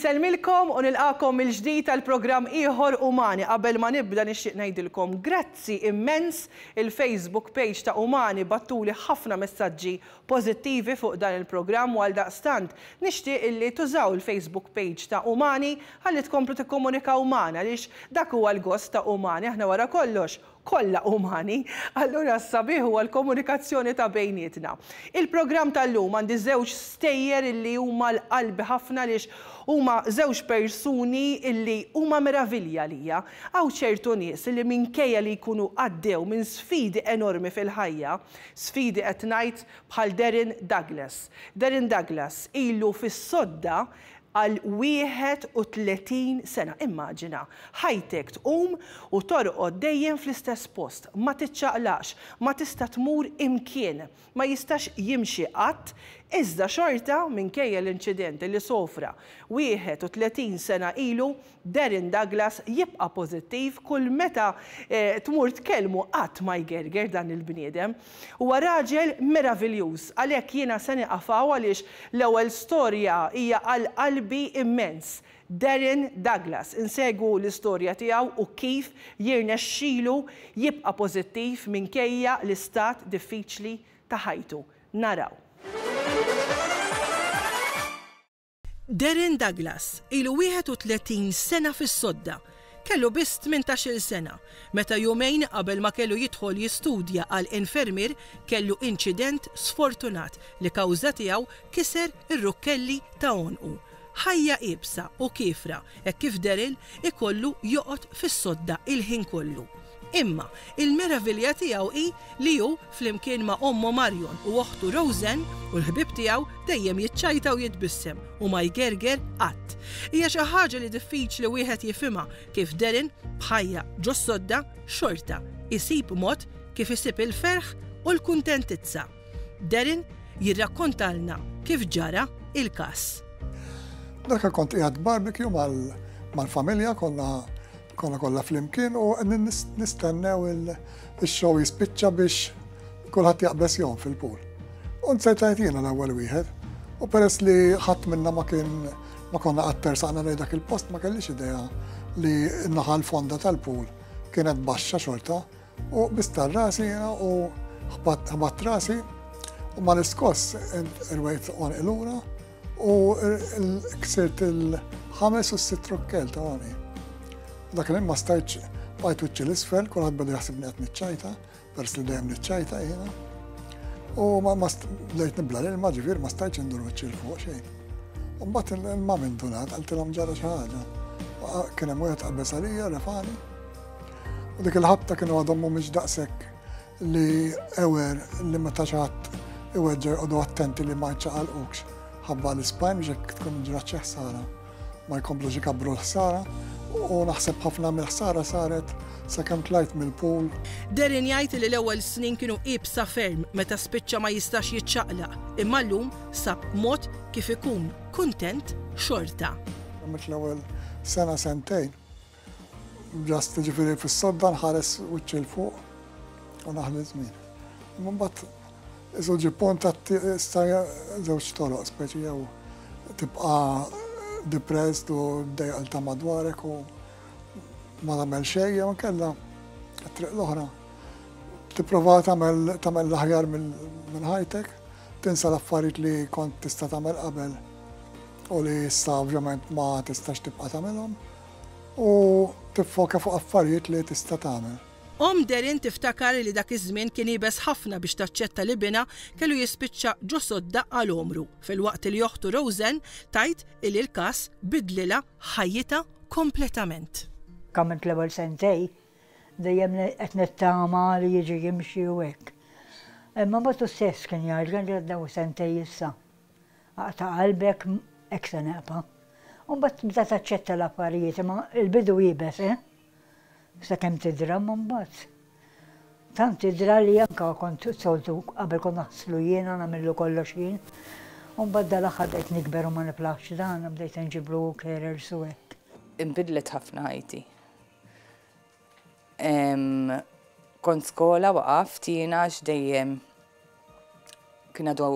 Insellmilkom u nilqagħkom mill-ġdid għal programm ieħor Umani. Qabel ma nibda nixtieq ngħidilkom grazzi immens. Il-Facebook page ta' Umani bagħtuli ħafna messaġġi pożittivi fuq dan il-programm u għaldaqstant nixtieq illi tużaw il-Facebook page ta' Umani ħalli tkomplu tikkomunikaw magħna għaliex dak huwa l-gost ta' Umani. Aħna wara kollox kollha umani, allura s-sabiħ huwa l-komunikazzjoni ta' bejnietna. Il-programm tal-lum għandi żewġ stejjer illi huma 'l qalbi ħafna għaliex huma żewġ persuni illi huma meravilja għalija. Hawn ċertu nies illi minkejja li jkunu għaddew minn sfidi enormi fil-ħajja, sfidi qed ngħid bħal Darren Douglas. Darren Douglas ilu fis-sodda għal 31 sena. Immaġina, ħajtek tqum u torqod dejjem fl-istess post, ma tiċċaqlaqx, ma tista' tmur imkien, ma jistax jimxi qatt, iżda xorta, minkejja l-inċident li sofra 31 sena ilu, Darren Douglas jibqa' pożittiv kull meta tmur tkellmu qatt ma jgerger dan il-bniedem. Huwa raġel meraviljuż għalhekk jiena se nieqaf hawn għaliex l-ewwel storja hija għal qalbi immens. Darren Douglas. Insegwu l-istorja tiegħu u kif jirnexxilu jibqa' pożittiv minkejja l-istat diffiċli ta' ħajtu. Naraw. Darren Douglas ilu 31 sena fis-sodda. Kellu biss tmintax-il sena meta jumejn qabel ma kellu jidħol jistudja għal infermier kellu inċident sfortunat li kawża tiegħu kiser ir-rukkelli ta' għonqu. Ħajja iebsa u kiefra hekk kif Darren ikollu joqgħod fis-sodda il-ħin kollu. Imma, il-meravilja tiegħu hi li hu, flimkien ma' ommu Marion u oħtu Roseanne u l-ħbieb tiegħu, dejjem jiċċajta u jitbissem u ma jgerger qatt. Hija xi ħaġa li diffiċli wieħed jifhimha kif Darren, b'ħajja ġos-sodda, xorta jsib mod kif isib il-ferħ u l-kuntentizza. Darren jirrakkontalna kif ġara il-każ. Dak kont qiegħed barbecue mal-familja konna Konna kollha flimkien u qegħdin nistennew il-show jispiċċa biex kulħadd jaqbeż jom fil-pool. U nsejt jiena l-ewwel wieħed. U peress li ħadd minna ma kien ma konna qatt tersaqna lejn dak il-post ma kellix idea li n-naħa l-fonda tal-pool kienet baxxa xorta u bistar rasi jiena u ħbatt rasi u mal-iskoss irwejt għonqi lura U ksirt il-ħames u s-sitt rukkel ta' għani. Dak li ma stajtx bqajt wiċċi l-isfel, kulħadd beda jaħsibni qed niċċajta, peress li dejjem niċċajta jiena. U ma bdejt nibla l-ilma ġifier ma stajtx indur wiċċi l fuq xejn. U mbagħad il-ma minn dunat qaltilhom ġara xi ħaġa. Kien hemm wieħed qabeż għalija refani. U dik il-ħabta kienu għadhom mhumiex daqshekk li aware li meta xi ħadd iweġġa' joqogħdu attenti li ma jċaqalqukx ħabba l-ispine biex jekk tkun ġrat xi ħsara ma jkomplux ikabbru l-ħsara u naħseb ħafna mill-ħsara saret sakemm tlajt mill-pool. Darren jgħid li l-ewwel snin kienu iebsa ferm meta spiċċa ma jistax jiċċaqlaq, imma llum sab mod kif ikun kuntent xorta. Għamilt l-ewwel sena sentejn Just ġifieri fis-sodda nħares wiċċi 'l fuq u naħli żmien. Imma mbagħad isu ġie punt issa żewġ toroq speċi jew tibqa' depressed u ddejjaq ta' madwarek u ma tagħmel xejn jew inkella t-triq l-oħra tipprova tagħmel tagħmel l-aħjar minn ħajtek, tinsa l-affarijiet li kont tista' tagħmel qabel u li issa ovvjament ma tistax tibqa' tagħmilhom u tiffoka fuq affarijiet li tista' tagħmel. Omm Darren tiftakar li dak iż-żmien kien iebes ħafna biex taċċetta li binha kellu jispiċċa ġo sodda għal għomru, filwaqt li oħtu Roseanne tgħid illi l-każ bidlilha ħajjitha kompletament. Għamilt l-ewwel sentej dejjem qed nittama li jiġi jimxi u hekk. Imma mbagħad hu stess kien jgħid li għaddew sentej issa. Aqta' qalbek hekk se neqpa'. U mbagħad tibda taċċetta l-affarijiet, imma l-bidu iebes, eh? Sakemm tidra, imma mbagħad tant tidra li anke kont soltu qabel kont naħslu jiena, nagħmillu kollox jien. U mbagħad dal-aħħar bdejt nikber u ma niflaħx dan, bdejt inġiblu carers u hekk. Inbidlet ħafna ħajti. Kont skola waqaft jiena għax dejjem kien għadu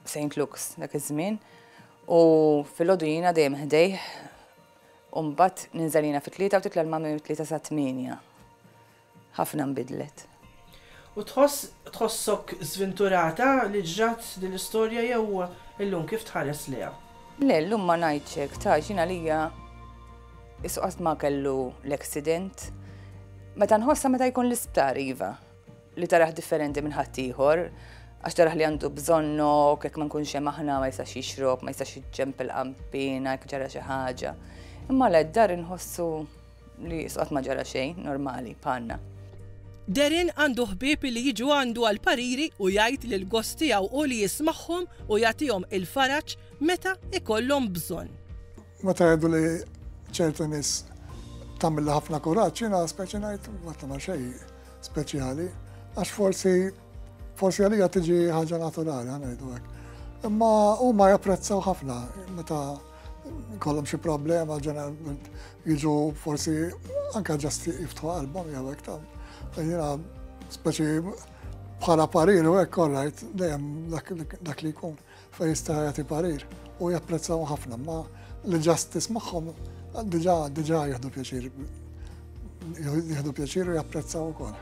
St. Luke's dak iż-żmien. U filgħodu jiena dejjem ħdejh u mbagħad ninżel jiena fit-tlieta u titla' l-mami mit-tlieta sat-tmienja. Ħafna nbidlet. U tħoss tħossok żvinturata li ġrat din l-istorja jew illum kif tħares lejha? Le, llum ma ngħidx hekk, ta' għax jien għalija qisu qatt ma kellu l-accident. Meta nħossha meta jkun l-isptar iva, li tarah differenti minn ħaddieħor, għax tarah li għandu bżonnok, jekk ma nkunx hemm aħna ma jistax jixrob, ma jistax iġġempel qanpiena jekk ġara xi ħaġa. Imma le d-dar inħossu li qisu qatt ma ġara xejn, normali, bħalna. Darren għandu ħbieb li jiġu għandu għal pariri u jgħid li l-gost tiegħu hu li jismagħhom u jagħtihom il-faraġ meta jkollhom bżonn. Meta jgħidu li ċertu nies tagħmilli ħafna kuraġġ, jiena speċi ngħid ma tagħmel xejn speċjali, għax forsi forsi għalija tiġi ħaġa naturali, ħa ngħidu hekk. Imma huma japprezzaw ħafna meta jkollhom xi problema ġeneralment jiġu forsi anke ġast jiftħu qalbhom jew hekk ta' jiena speċi bħala parir u hekk alright dejjem dak li jkun fejn jista' jagħti parir u japprezzaw ħafna ma li ġast tismagħhom diġà diġà jieħdu pjaċir jieħdu pjaċir u japprezzaw ukoll.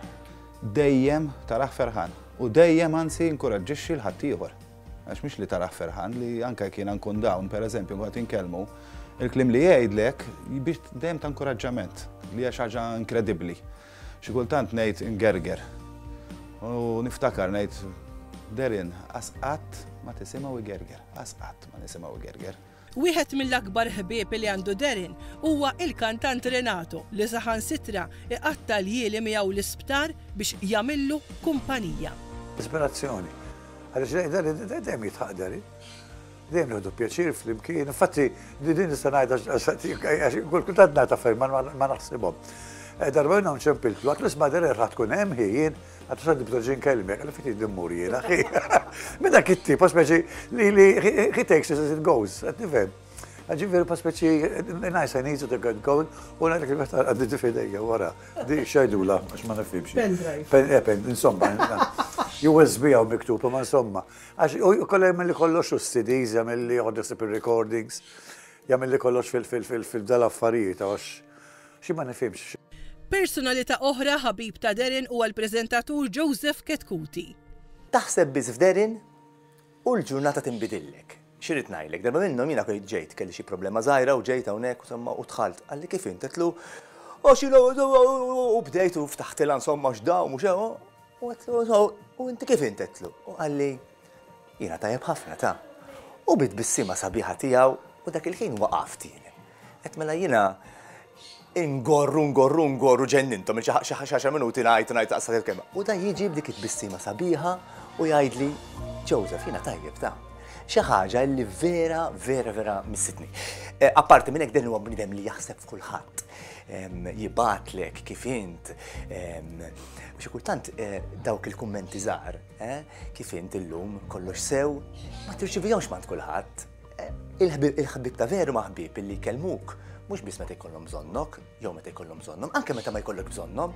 Dejjem tarah ferħan u dejjem anzi jinkuraġġixxi 'l ħaddieħor. Għax mhix li tarah ferħan, li anke jekk jiena nkun down, pereżempju, nkun qed inkellmu, il-kliem li jgħidlek biex dejjem ta' inkoraġġament, li hija xi ħaġa inkredibbli. Xi kultant ngħid ingerger. U niftakar ngħid Darren, qas qatt ma tisimgħu igerger, qas qatt ma nisimgħu igerger. Wieħed mill-akbar ħbieb li għandu Darren huwa il-kantant Renato li saħansitra iqatta' ljieli miegħu l-isptar biex jagħmillu kumpanija. Ispirazzjoni. Għaliex dejjem jidħaq Darren. Dejjem nieħdu pjaċir flimkien. Infatti, din nista' ngħid għax kultant ngħid affarijiet ma naħsibhom. Eh, darba minnhom ċempiltlu, għatlu isma' Darren ħa tkun hemm hi jien, għatlu sa nibda ġin kelmek, għalli ftit immur jien, akhi. Minn dak it-tip, speċi li li he takes it as it goes, qed nifhem. Ġifieri pa speċi nice and easy to get going u ngħidlek li meta għaddi f'idejja wara. Di xajdula għax ma nifhimx. Pendrive. Eh, pen, insomma, USB hawn miktub, ma insomma. Għax u kollha jagħmel li kollox u CDs, jagħmel li joħod ir-recordings, jagħmel li kollox fil-dal-affarijiet għax xi ma nifhimx. Personalità oħra ħabib ta' Darren huwa l-preżentatur Joseph Chetcuti. Taħseb biss f'Darren U l-ġurnata tinbidillek. X'irrid ngħidlek, darba minnhom jiena kont ġejt, kelli xi problema żgħira u ġejt hawnhekk insomma u dħalt. Qalli kif int? Għedtlu, għax jiena u bdejt u ftaħtilha insomma x'da u mhux hekk. U għedtlu, u inti kif int? Għedtlu. U qalli, jiena tajjeb ħafna ta. U bi tbissima sabiħa tiegħu u dak il-ħin waqaft jien. Għedt mela jiena ingorru, ngorru, ngorru ġennintom xi għaxar minuti ngħid ngħid taqsad il-kelma. U dan jiġi b'dik it-tbissima sabiħa u jgħidli, Joseph, jiena tajjeb ta. Xi ħaġa li vera, vera, vera missitni. Eh, apparti minn hekk dan huwa bniedem li jaħseb f'kulħadd. Jibgħatlek kif int. Xi kultant eh, dawk il-kummenti żgħar, eh, kif int illum kollox sew, ma tirċivihomx mant kulħadd. Il-ħbieb ta' veru ma' ħbieb illi jkellmuk mhux biss meta jkollhom bżonnok, jew meta jkollhom bżonnhom, anke meta ma jkollok bżonnhom,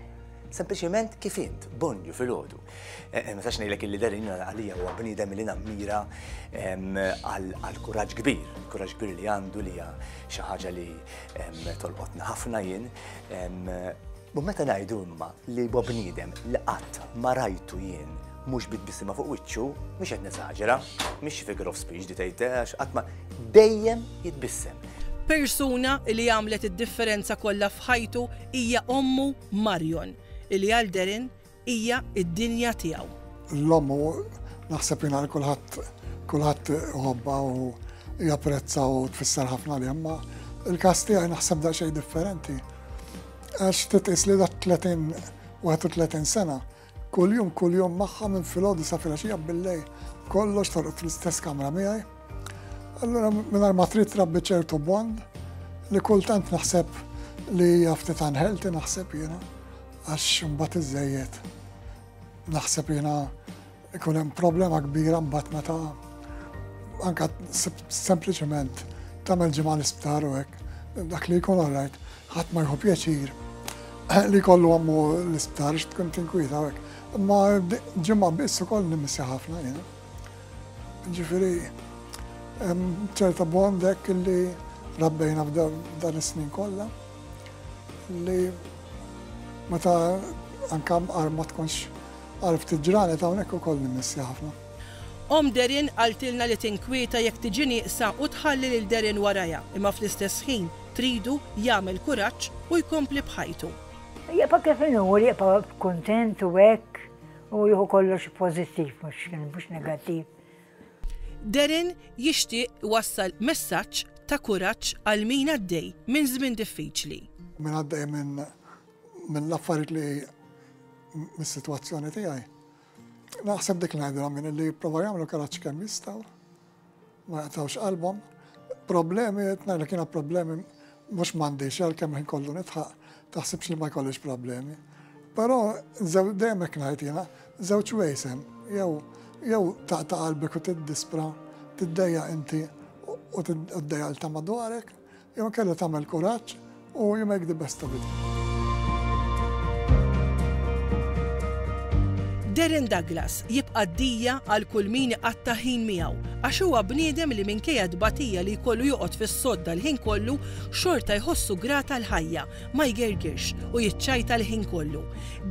sempliċement kif int, bonju filgħodu. Eh, eh, ma sax ngħidlek illi Darren għalija huwa bniedem li nammira għal kuraġġ kbir, kuraġġ kbir li għandu li hija xi ħaġa li tolqotna ħafna jien. U meta ngħidu imma li huwa bniedem li qatt ma rajtu jien mhux bi tbissima fuq wiċċu, mhix qed nesaġera, mhix figure of speech di tgħid eh, għax qatt ma dejjem jitbissem. Persuna li għamlet id-differenza kollha f'ħajtu hija ommu Marion, li għal Darren hija d-dinja tiegħu. L-omm naħseb jiena li kulħadd kulħadd iħobbha u japprezza u tfisser ħafna li imma il-każ tiegħi naħseb daqsxejn differenti. Għax titqis li dak 30 31 sena kuljum kuljum magħha minn filgħodu sa filgħaxija billejl kollox torqod fl-istess kamra miegħi. Allura mingħajr ma trid trabbi ċertu bond li kultant naħseb li hija ftit unhealthy naħseb jiena għax imbagħad iżżejjed. Naħseb jiena ikun hemm problema kbira mbagħad meta anka sempliċement tagħmel ġimgħa l-isptar u hekk, dak li jkun alright, ħadd ma jieħu pjaċir li jkollu ommu l-isptar għax tkun tinkwieta u hekk. Imma ġimgħa biss ukoll nimissja ħafna jiena. Ġifieri. Hemm ċerta bond hekk li rabbejna f'dan is-snin kollha li meta anke mqar ma tkunx għal ftit ġranet hawnhekk ukoll nimmissja ħafna. Omm Darren qaltilna li tinkwieta jekk tiġi nieqsa u tħalli lil Darren warajha imma fl-istess ħin tridu jagħmel kuraġġ u jkompli b'ħajtu. Jibqa' kif inhu, jibqa' kuntent u hekk u jieħu kollox pożittiv mhux negattiv. Darren jixtieq iwassal messaġġ ta' kuraġġ għal min għaddej minn żmien diffiċli. Min għaddej minn l-affarijiet li mis-sitwazzjoni tiegħi. Naħseb dik li ngħidilhom min li jipprova jagħmlu kuraġġ kemm jistgħu, ma jaqtgħux qalbhom. Problemi, qed ngħidlek jiena problemi mhux m'għandix għalkemm ħin kollu nidħaq, taħsibx li ma jkollix problemi. Però dejjem hekk ngħid jiena, żewġ ways hemm, jew jew taqta' qalbek u tiddispra, tiddejjaq inti u tiddejjaq 'l ta' madwarek, jew inkella tagħmel kuraġġ u you make the best of it. Darren Douglas jibqa' d-dija għal kull min iqatta' ħin miegħu għax huwa bniedem li minkejja t-tbatija li jkollu joqgħod fis-sodda l-ħin kollu xorta jħossu grat għall-ħajja, ma jgergirx u jiċċajta l-ħin kollu.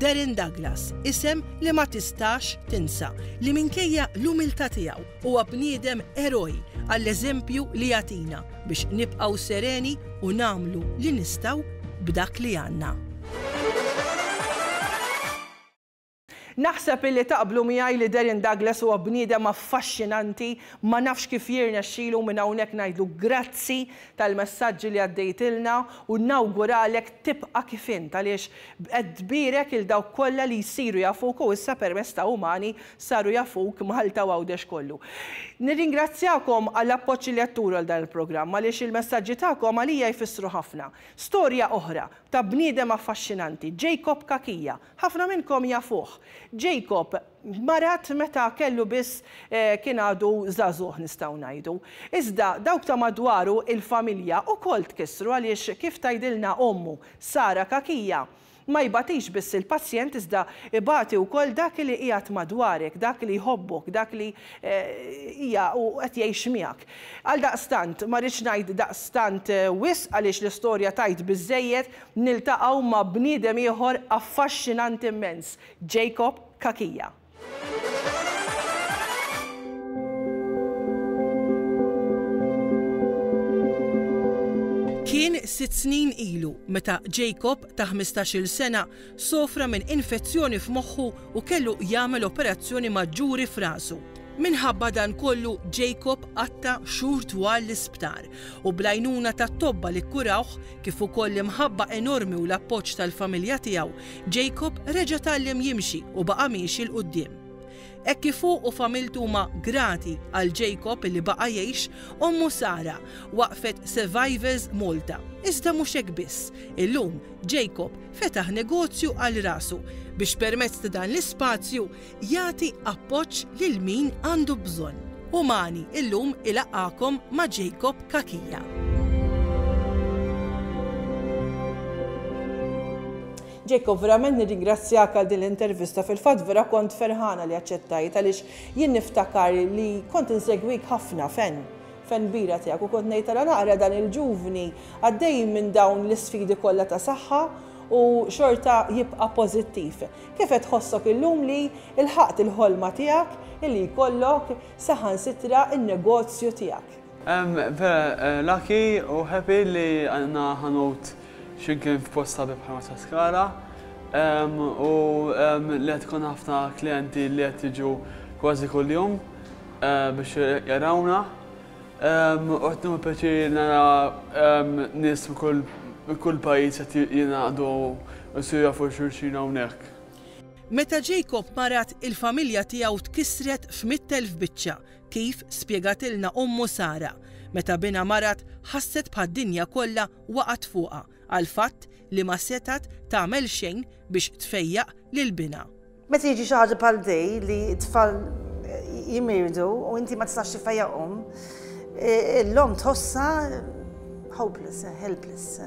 Darren Douglas, isem li ma tistax tinsa, li minkejja l-umiltà tiegħu huwa bniedem eroj għall-eżempju li jagħtina biex nibqgħu sereni u nagħmlu li nistgħu b'dak li għandna. Naħseb illi taqblu miegħi li Darren Douglas huwa bniedem affaxxinanti, ma nafx kif jirnexxilu minn hawnhekk ngħidlu grazzi tal-messaġġi li għaddejtilna u nawguralek tibqa' kif int għaliex qed tbierek 'il dawk kollha li jsiru jafuk u issa permezz ta' Umani saru jafuk Malta u Għawdex kollu. Nirringrazzjakom għall-appoġġ li qed turu għal dan il-programm għaliex il-messaġġi tagħkom għalija jfissru ħafna. Storja oħra ta' bniedem affaxxinanti, Jacob Cachia, Ħafna minnkom jafuh. Jacob marad meta kellu biss kien għadu żagħżugħ nistgħu ngħidu. Iżda dawk ta' madwaru, il-familja, ukoll tkissru għaliex kif tgħidilna ommu, Sara Cachia, ma jbatix biss il-pazjent iżda ibati wkoll dak li qiegħed madwarek, dak li jħobbok, dak li hija u qed jgħix miegħek. Għaldaqstant, ma rridx ngħid daqstant wisq għaliex l-istorja tgħid biżżejjed, Niltaqgħu ma' bniedem ieħor affaxxinanti immens, Jacob Cachia. Kien sitt snin ilu meta Jacob ta' 15-il sena sofra minn infezzjoni f'moħħu u kellu jagħmel operazzjoni maġġuri f'rasu. Minħabba dan kollu Jacob qatta' xhur twal l-isptar u bl-għajnuna tat-tobba li kkurawh kif ukoll l-imħabba enormi u l-appoġġ tal-familja tiegħu, Jacob reġa' tgħallem jimxi u baqa' miexi 'l quddiem. Hekk kif hu u familtu huma grati għal Jacob li baqa' jgħix, ommu Sara waqqfet Survivors Malta. Iżda mhux hekk biss, illum Jacob fetaħ negozju għal rasu biex permezz ta' dan l-ispazju jagħti appoġġ lil min għandu bżonn. Umani illum ilaqqagħkom ma' Jacob Cachia. Jacob, verament nirringrazzjak għal din l-intervista. Fil-fatt vera kont ferħana li aċċettajt għaliex jien niftakar li kont insegwik ħafna fen fen kbira tiegħek u kont ngħid tara naqra dan il-ġuvni għaddej minn dawn l-isfidi kollha ta' saħħa u xorta jibqa' pożittiv. Kif qed tħossok illum li lħaqt il-ħolma tiegħek illi jkollok saħansitra n-negozju tiegħek? Vera lucky u happy li għandna ħanut x'imkien f'post sabiħ bħal Marsaskala u li qed ikollna ħafna klijenti li qed jiġu kważi kuljum biex jarawna. U qed nieħu pjaċir nara nies minn kull pajjiż qed jingħaqdu u jsiru jafu xulxin hawnhekk. Meta Jacob marad, il-familja tiegħu tkissret f'mitt'elf biċċa, kif spjegatilna ommu Sara. Meta binha marad, ħasset bħad-dinja kollha waqgħet fuqha għall-fatt li ma setgħet tagħmel xejn biex tfejjaq lil binha. Meta jiġi xi ħaġa bħal di li t-tfal jimirdu u inti ma tistax tifejjaqhom, l-omm tħossha hopeless, helpless.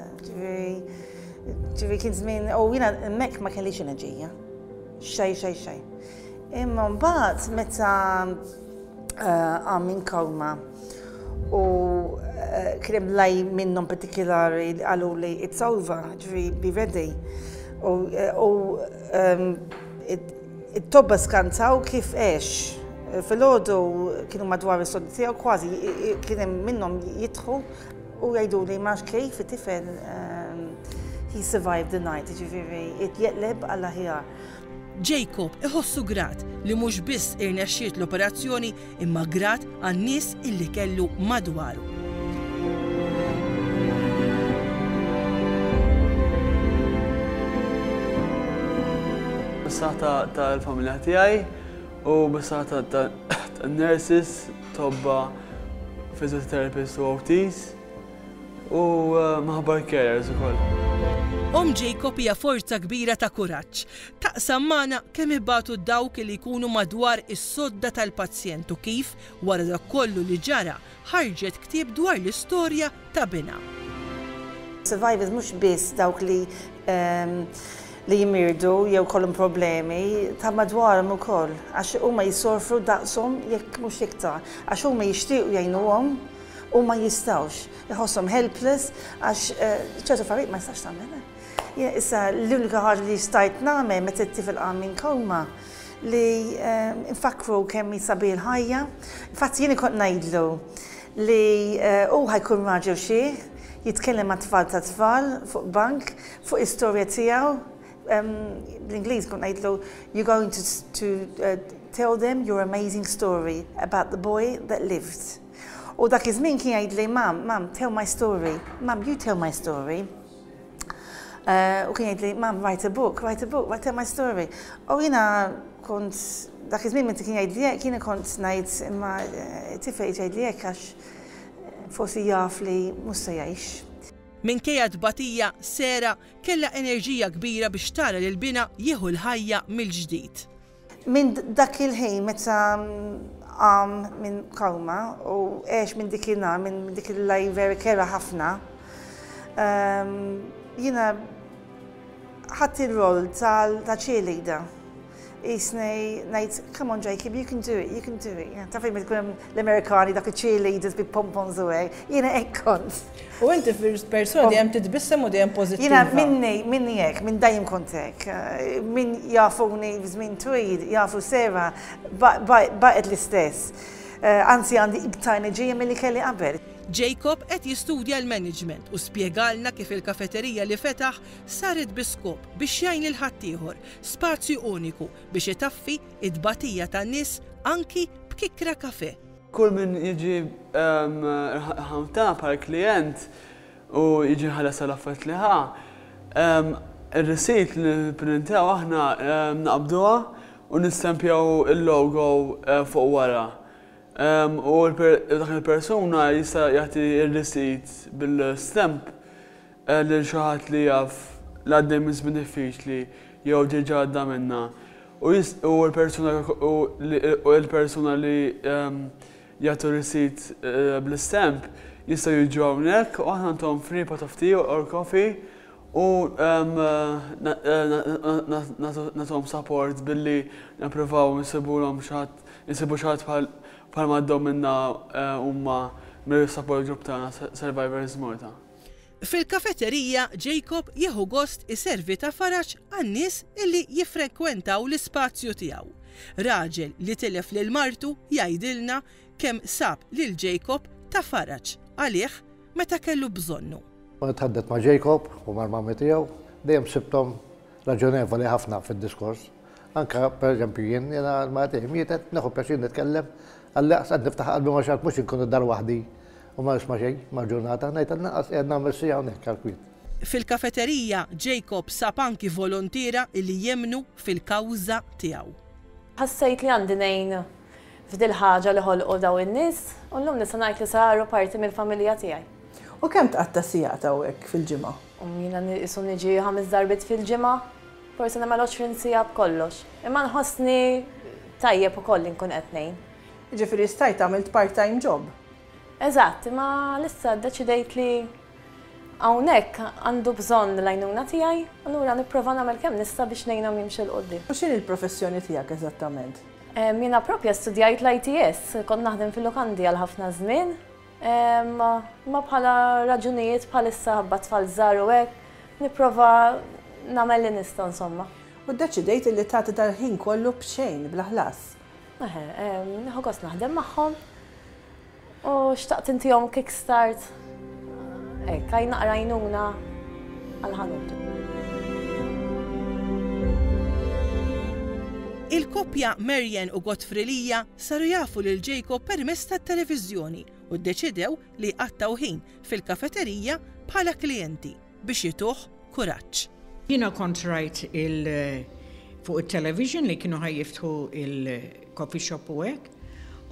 Ġifieri kien żmien u jiena hemmhekk ma kellix enerġija. Xejn, xejn, xejn. Imma mbagħad meta eh, qam minn koma. U kien hemm lej minnhom partikolari li qaluli it's over, ġifieri be ready. U it-tobba skantaw kif għex. Filgħodu kienu madwar is-sodda tiegħu kważi kien hemm minnhom jidħu u jgħiduli ma nafx kif it-tifel he survived the night, jiġifieri jeqleb għall-aħjar. Jacob iħossu grat li mhux biss irnexxiet l-operazzjoni imma grat għan-nies illi kellu madwaru. Bis-saħħa tal-familja tiegħi u bis-saħħa tan-nurses, tobba, physiotherapists u OTs. U minħabba l-carers ukoll. Omm Jacob hija forza kbira ta' kuraġġ. Taqsam magħna kemm ibatu dawk li jkunu madwar is-sodda tal-pazjent u kif, wara dak kollu li ġara, ħarġet ktieb dwar l-istorja ta' binha. Survivors mhux biss dawk li li jimirdu jew kollhom problemi, ta' madwarhom ukoll, għax huma jissorfru daqshom jekk mhux iktar, għax huma jixtiequ jgħinuhom u ma jistgħux, iħosshom helpless għax ċertu affarijiet ma jistax tagħmel. Issa l-unika ħaġa li stajt nagħmel meta t-tifel qam minn koma li nfakkru kemm hi sabiħ il-ħajja. Infatti jiena kont ngħidlu li hu ħa jkun raġel xiħ, jitkellem mat-tfal tat-tfal fuq bank, fuq istorja tiegħu. Bl-Ingliż kont ngħidlu you're going to, to tell them your amazing story about the boy that lived. U dak iż-żmien kien jgħidli, Mum, Mum, tell my story. Mum, you tell my story. U kien jgħidli, Mum, write a book, write a book, write tell my story. U jiena kont, dak iż-żmien meta kien jgħidli hekk, jiena kont ngħid imma tifel jgħidli hekk għax forsi jaf li mhux se jgħix. Minkejja t-tbatija, Sarah kellha enerġija kbira biex tara lil binha jieħu l-ħajja mill-ġdid. Minn dak il-ħin meta qam minn koma u għex minn dik in-nhar, minn dik il-lejl vera kerha ħafna, jiena ħadt ir-rol ta' cheerleader. Qisni ngħid, come on Jacob, you can do it, you can do it. Taf fejn tkun hemm l-Amerikani dak il-cheerleaders bi pompons u hekk, jiena hekk kont. U inti persuna dejjem titbissem u dejjem pożittiva. Jiena minni, minni hekk, minn dejjem kont hekk. Min jafuni f'żmien twil, jafu Sarah, baqgħet l-istess. Anzi għandi iktar enerġija milli kelli qabel. Jacob qed jistudja l-management u spjegalna kif il-kafeterija li fetaħ saret bi skop biex jgħin lil ħaddieħor, spazju uniku biex itaffi t-tbatija tan-nies anki b'kikra kafè. Kull min jiġi il-ħanut tagħna bħala klijent u jiġi jħallas għall-affarijiet li ħa, ir-receipt li nipprintaw aħna naqbduha u nistempjaw il-logo fuq wara. U dak il-persuna jista' jagħti r-receipt bil-stamp lil xi ħadd li jaf li għaddej minn żmien diffiċli jew diġà għadda minnha. U l-persuna u l-persuna li jagħtu receipt bl-istamp jistgħu jiġu hawnhekk u aħna ntuhom free pot of tea or coffee u nagħtuhom support billi nippruvaw insibulhom xi ħadd insibu xi ħadd bħal ma għaddew minnha huma mill-support group tagħna Survivors Malta. Fil-kafeterija, Jacob jieħu gost iservi ta' faraġ għan-nies illi jiffrekwentaw l-ispazju tiegħu. Raġel li tilef lil martu jgħidilna kemm sab lil Jacob ta' faraġ għalih meta kellu bżonnu. Meta tħaddet ma' Jacob u mal-mami tiegħu, dejjem sibthom raġonevoli ħafna fid-diskors. Anke pereżempju jien, jiena l-mara tiegħi mietet, nieħu pjaċir nitkellem, għall-inqas qed niftaħ qalbi ma' xi ħadd mhux inkun id-dar waħdi U ma nisma' xejn mal-ġurnata, ngħid għall-inqas qiegħed nagħmel siegħa hawnhekk għall-kwiet. Fil-kafeterija, Jacob sab anki volontiera li jemmnu fil-kawża tiegħu. Ħassejt li għandi ngħin f'dil-ħaġa li ħolqu dawn in-nies u llum nista' ngħid li saru parti mill-familja tiegħi. U kemm tqatta' sigħat hawnhekk fil-ġimgħa? Jiena qisu niġi ħames darbiet fil-ġimgħa, forsi nagħmel 20 siegħa b'kollox. Imma nħossni tajjeb ukoll li nkun qed ngħin. Jiġifieri stajt għamilt part-time job? Eżatt, imma issa ddeċidejt li hawnhekk għandu bżonn l-għajnuna tiegħi, allura nipprova nagħmel kemm nista' biex ngħinhom jimxu 'l quddiem. U x'inhi l-professjoni tiegħek eżattament? Jiena proprja studjajt l-ITS, kont naħdem fil-lukandi għal ħafna żmien. Imma bħala raġunijiet bħalissa ħabba tfal żgħar u hekk, nipprova nagħmel li nista' insomma. U ddeċidejt illi tagħti dal-ħin kollu b'xejn, bla ħlas. Eħe, nieħu gost naħdem magħhom u xtaqt intihom kick start hekk, għaj naqra għajnuna għall-ħanut. Il-koppja Marianne u Godfrey Lia saru jafu lil Jacob permezz tat-televiżjoni u ddeċidew li jqattgħu ħin fil-kafeterija bħala klijenti biex jtuh kuraġġ. Jiena kont rajt il fuq it-television li kienu ħa jiftħu il-coffee shop u hekk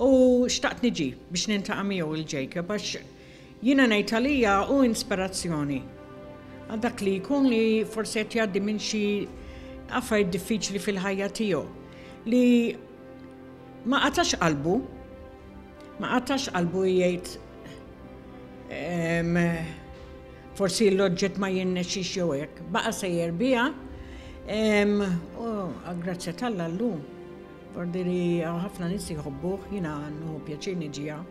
u xtaqt niġi biex nintaqa' miegħu il Jacob għax jiena ngħid għalija hu inspirazzjoni għal dak li jkun li forsi qed jgħaddi minn xi affarijiet diffiċli fil-ħajja tiegħu li ma qatax qalbu, ma qatax qalbu jgħid forsi l-oġġett ma jirnexxix jew hekk. Baqa' sejjer biha u grazzja t'Alla llum Vordiri hawn ħafna nies jħobbuh, jiena nieħu pjaċir niġi hawn.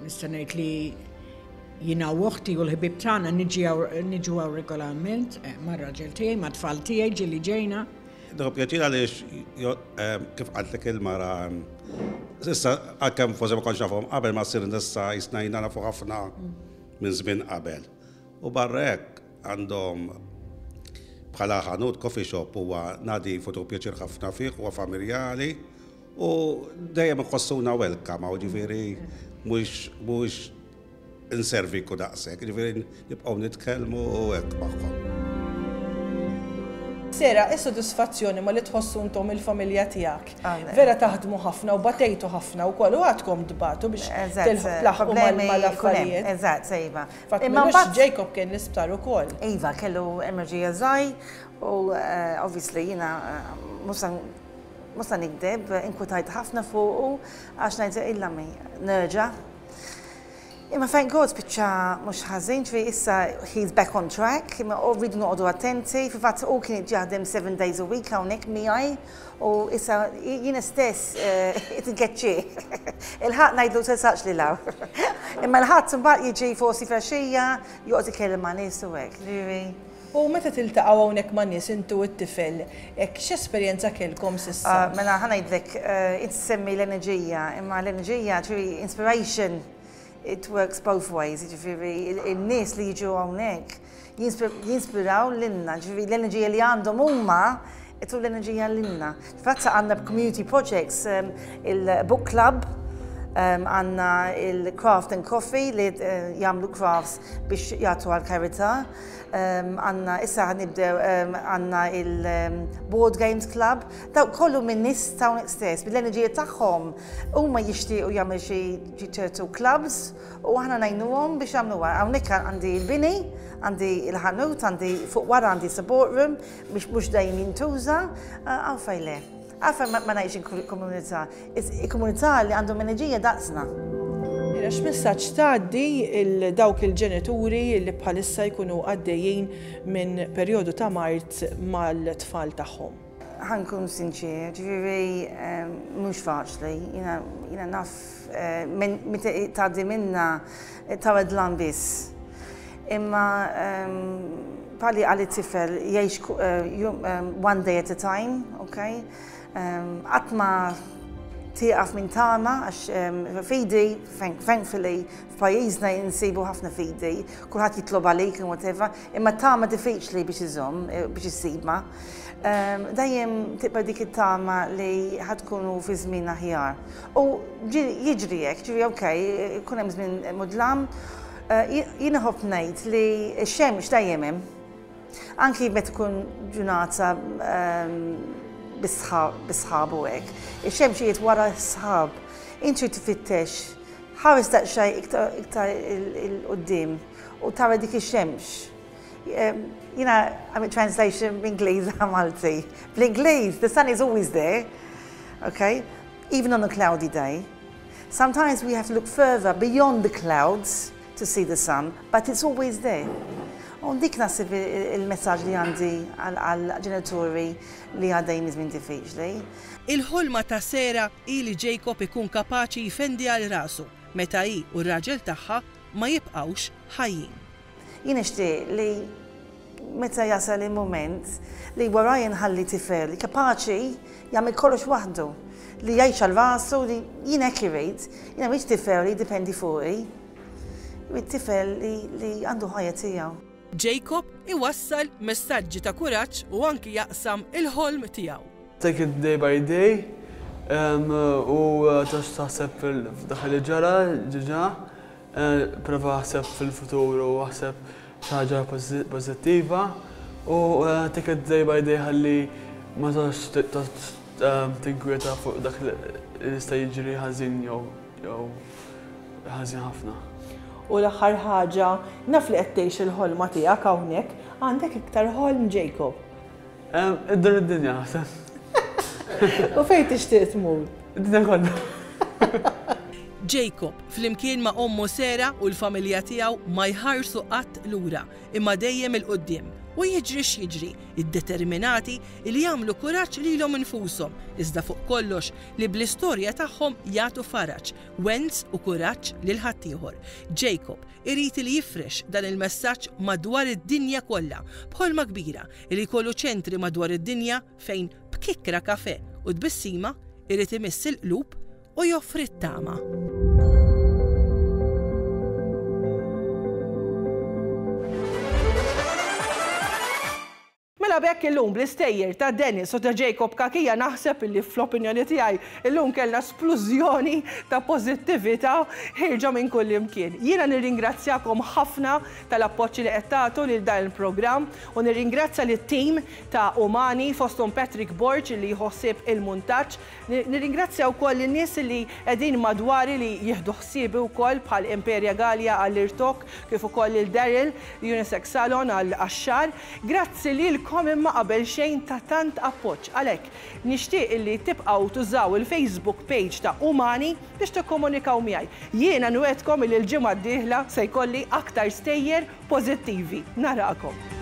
Nista' ngħid li jiena u oħti u l-ħbieb tagħna niġu hawn regolarment mar-raġel tiegħi, mat-tfal tiegħi ġieli ġejna. Nieħu pjaċir għaliex kif qaltlek il-mara issa għalkemm forsi ma kontx nafhom qabel ma ssir issa jisna jiena nafu ħafna minn żmien qabel. U barra hekk għandhom bħala ħanut coffee shop huwa nadif u tieħu pjaċir ħafna fih, huwa familjali u dejjem iħossuna welcome hawn ġifieri mhux mhux inservik u daqshekk, jiġifieri nibqgħu nitkellmu u hekk magħhom. Sarah, is-sodisfazzjoni ma li tħossu intom il-familja tiegħek. Vera taħdmu ħafna u batejtu ħafna wkoll u għadkom tbatu biex tlaħħqu mal-affarijiet. Eżatt, sejba. Fatt imma Jacob kien l-isptar ukoll. Iva, kellu emerġija żgħir u obviously jiena mhux se nikdeb, inkwetajt ħafna fuqu għax ngħid illa mi nerġa'. Imma thank God spiċċa mhux ħażin, ġifieri issa he's back on track, imma u rridu noqogħdu attenti, fil-fatt hu kien qed jaħdem 7 days a week hawnhekk miegħi u issa jiena stess qed inkeċċih. Il-Ħadd ngħidlu tersaqx lil hawn. Imma l-Ħadd imbagħad jiġi forsi filgħaxija joqgħod ikellem ma' nies u hekk, ġifieri. U meta tiltaqgħu hawnhekk ma' nies inti u t-tifel, hekk x'esperjenza kellkom s'issa? Mela ħa ngħidlek, inti ssemmi l-enerġija, imma l-enerġija ġifieri inspiration it works both ways, jiġifieri n-nies li jiġu hawnhekk jinspiraw lilna, jiġifieri l-enerġija li għandhom huma jtu l-enerġija lilna. Fatt għandna community projects, il-book club, għandna il-craft and coffee li jagħmlu crafts biex jagħtu għall-karità. Għandna issa ħanibdew għandna il-Board Games Club, dawk kollu minn nies ta' hawnhekk stess, bil-enerġija tagħhom huma jixtiequ jagħmlu xi ċertu clubs u aħna ngħinuhom biex jagħmluha. Hawnhekk għandi l-bini, għandi l-ħanut, għandi fuq wara għandi support room biex mhux dejjem jintuża, għalfejn le. Għalfejn ma ngħidx il-komunità, il-komunità li għandhom enerġija daqsna. Mela x'messaġġ tgħaddi 'l dawk il-ġenituri li bħalissa jkunu għaddejjin minn perjodu ta' mard mal-tfal tagħhom? Ħa nkun sinċier, ġifieri mhux faċli, jiena naf meta tgħaddi minnha tara dlam biss. Imma bħali qal it-tifel jgħix one day at a time, okay? Qatt ma tieqaf minn tama għax fidi, thankfully, f'pajjiżna insibu ħafna fidi, kulħadd jitlob għalik and whatever, imma tama diffiċli biex iżomm, biex issibha. Dejjem tibqa' dik it-tama li ħa tkunu fi żmien aħjar. U jiġri hekk, ġifieri okay, ikun hemm żmien mudlam. Jien inħobb ngħid li x-xemx dejjem hemm. Anki meta tkun ġurnata bis-sħab u hekk. Ix-xemx qiegħed wara s-sħab. Int trid tfittex, ħares daqsxejn iktar 'il quddiem u tara dik ix-xemx. Jiena għamilt translation b'Ingliż għal Malti. Bl-Ingliż, the sun is always there, okay? Even on a cloudy day. Sometimes we have to look further beyond the clouds to see the sun, but it's always there. U dik naħseb il-messaġġ li għandi għall-ġenituri li għaddejjin minn żmien diffiċli. Il-ħolma ta' Sarah hi li Jacob ikun kapaċi jfendi għal rasu. meta hi u r-raġel tagħha ma jibqgħux ħajjin. Jien nixtieq li meta jasal il-mument li warajja nħalli tifel li kapaċi jagħmel kollox waħdu, li jgħix għal rasu, li jien hekk irrid. Jiena ma rridx tifel li jiddipendi fuqi. Irrid tifel li għandu ħajja tiegħu. Jacob iwassal messaġġi ta' kuraġġ u anki jaqsam il-ħolm tiegħu. Take it day by day u toqgħodx taħseb f'dak li ġara ġiġa, prova aħseb fil-futur u aħseb xi ħaġa pożittiva u take it day by day ħalli ma toqgħodx tinkwieta fuq dak li jista' jiġri ħażin jew ħażin ħafna. U l-aħħar ħaġa, naf li qed tgħix il-ħolma tiegħek hawnhekk, għandek iktar ħolm Jacob? Iddur id-dinja naħseb. U fejn tixtieq tmur? Id-dinja kollha. Jacob, flimkien ma' ommu Sarah u l-familja tiegħu ma jħarsu qatt lura, imma dejjem 'il quddiem. U jiġri x'jiġri, iddeterminati li jagħmlu kuraġġ lilhom infushom, iżda fuq kollox li bl-istorja tagħhom jagħtu faraġ, wens u kuraġġ lil ħaddieħor. Jacob irid li jifrex dan il-messaġġ madwar id-dinja kollha, b'ħolma kbira li jkollu ċentri madwar id-dinja fejn b'kikkra kafè u tbissima irid imiss il-qlub u joffri t-tama. Mela b'hekk illum bl-istejjer ta' Dennis u ta' Jacob Cachia naħseb illi fl-opinjoni tiegħi illum kellna splużjoni ta' pożittività ħierġa minn kullimkien. Jiena nirringrazzjakom ħafna tal-appoġġ li qed tagħtu lil dan il-programm u nirringrazzja lit-tim ta' Umani fosthom Patrick Borg li jieħu ħsieb il-muntaġġ, Nirringrazzja wkoll lin-nies li qegħdin madwari li jieħdu ħsiebi wkoll bħal Imperia Gallia għall-irtokk kif ukoll lil Daryl, Unisex Salon għax-xagħar. Grazzi lilkom imma qabel xejn ta' tant appoġġ. Għalhekk, nixtieq illi tibqgħu tużaw il-Facebook page ta' Umani biex tikkomunikaw miegħi. Jiena nwegħdkom illi l-ġimgħa d-dieħla se jkolli aktar stejjer pożittivi. Narakom.